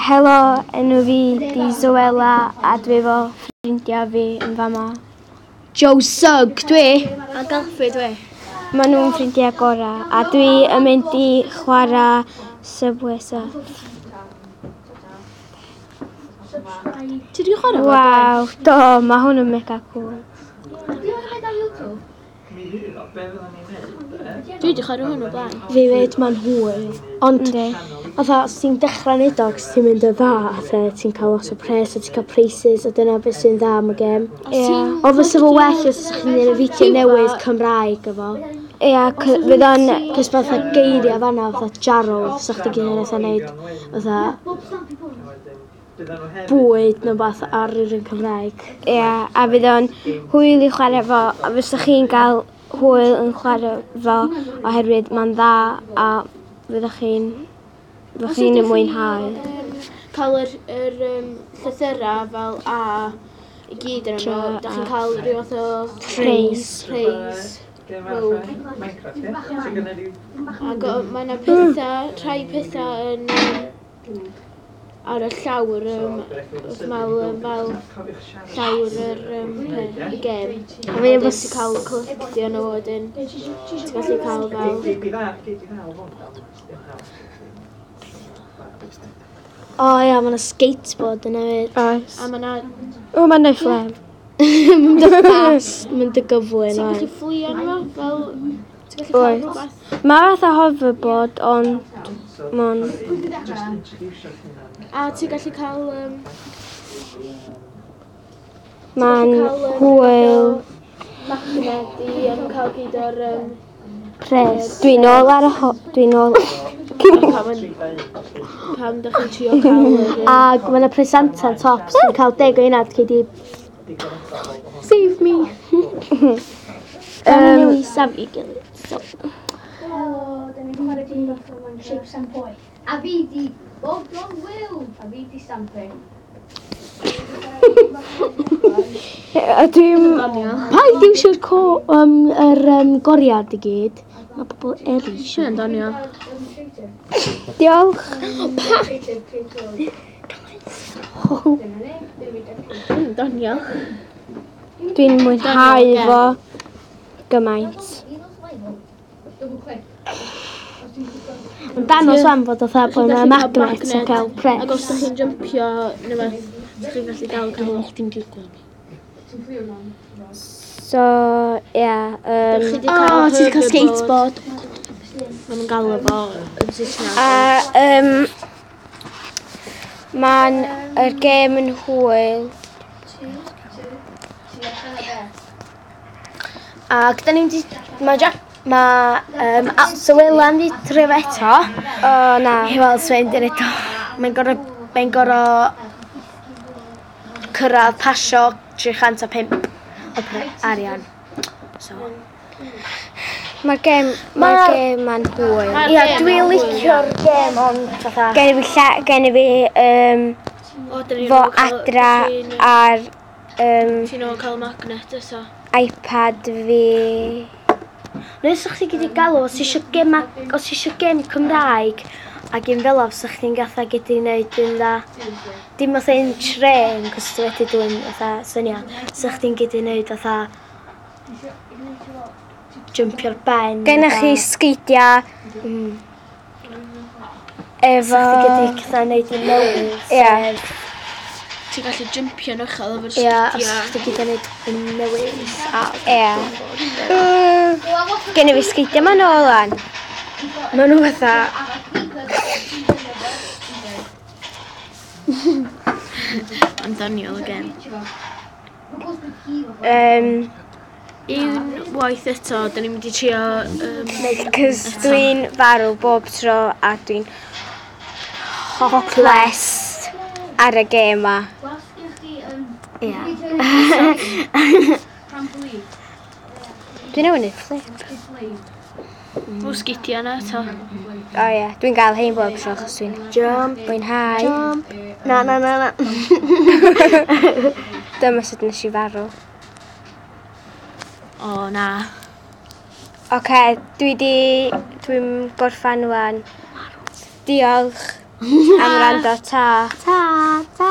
Helo, enw fi di Zoella a dwi efo ffrindiau fi yn fama. Joe Sugg dwi. A Galfrey dwi. Maen nhw'n ffrindiau gorau a dwi yn mynd i chwarae Subway Surf. Ti wedi chwarae fo? Waw, do, mae hwn yn mega cool. Dwi wedi chwarae hwn o blaen. Fi fyd, mae'n hwyl. Ond, Yndi. fatha, os ti'n dechrau neud o, os ti'n mynd yn dda, fatha, ti'n cael lot o pres, a ti'n cael preises, a dyna beth sy'n dda am y gêm. Ie. Ond fysa fo well os ydych chi'n gwneud y fideo newydd Cymraeg efo. Ie, fydd o'n. Cos fatha geiriau fanna, fatha jarl, fysa chdi gyd yn fatha neud, fatha bwyd neu beth ar yr un Cymraeg. Ie, a fydd o'n hwyl i chwarae fo, a fysa chi'n cael hwyl yn chwarae fo oherwydd mae'n dda a fyddwch chi'n mwynhau. Cael yr llythyrau fel A i gyd yn yno. Da chi'n cael rhyw fath o Preis. Preis. Ac mae yna pethau, rhai pethau yn ar y llawr, fel, fel llawr yr y gêm. A fi efo ti'n cael collectio nhw wedyn. Ti'n gallu cael fel. O ia, mae yna skateboard yna hefyd. Oes. A mae yna. O, mae'n neud flem. Mynd y fast, mynd y gyflym. Ti'n gallu fflio arno fo, fel. Ti'n gallu cael Oes. rhywbeth. Mae fatha hoverboard, ond mae'n. A ti'n gallu cael Mae'n cael, hwyl. Magnet i cael gyd o'r Pres. Dwi'n ôl ar y Dwi'n ôl. Pam da chi'n trio cael yr Ac mae yna presantan top sy'n cael 10 o unad cei di. Save me. Um, safio gilydd. So. Helo, da ni'n chwarae gêm bach o Shapes and Poi. A fi di Bob John Will. A fi di Stampy. A dwi'n. Paid iwsio'r yr goriad i gyd. Mae pobl eraill. Sian Daniel. Diolch. Daniel. Dwi'n mwynhau fo gymaint. Double click. Mae'n dangos wan fod oedd bod yna magnet yn cael pres. Ac os da chi'n jumpio neu beth, da chi'n gallu dal cael. Chdi'n gwybod. So, ie. Yeah, Chi 'di O, cael ti wedi cael hoverboard. skateboard. Maen nhw'n galw fo yn Saesneg. A mae'n yr gêm yn hwyl. Ac da ni'n di. Mae Jack. Mae Sywela yn di trio fo eto. O, na. I weld sut mae'n eto. Mae'n gorau cyrraedd pasio 305 o arian. So. Mae'r gêm ma'n hwyl. Ia, dwi'n licio'r gêm ond fatha. Gen i fi, lle, gen i fi O, da ni'n fo ôl cael- adra ti'n- ar Ti'n ôl cael magnet eto. iPad fi. Neu sa'ch chi gyd i galw, os eisiau gêm, os eisiau gêm Cymraeg a gêm fel o, sa'ch chi'n gatha gyd i wneud yn dda. Dim fatha un tren, cos ti wedi dwyn fatha syniad. Sa'ch chi'n gyd i wneud fatha jumpio'r ben. Gennych chi sgeidiau efo. Sa'ch chi gyd i gatha wneud yn newydd. Ie. Ti'n gallu jumpio'n uchel efo'r Ie, os sgidiau. chdi gyd yn wneud yn newydd. Ie. Gen i fi sgeidiau ma'n ôl lan. Maen nhw fatha. Am Daniel again. Un waith eto, da ni'n mynd i trio Cos dwi'n farw bob tro a dwi'n hopeless ar y gêm ma. Ie. Dwi'n newydd neud flip. O, sgidiau yna eto. O ie, dwi'n gael hein bob tro achos dwi'n Jump, mwynhau. jump. Na, na, na, na. Dyma sut nes i farw. O, na. Oce, dwi di. Dwi'n gorffan wan. Diolch. Am wrando, ta. Ta, ta.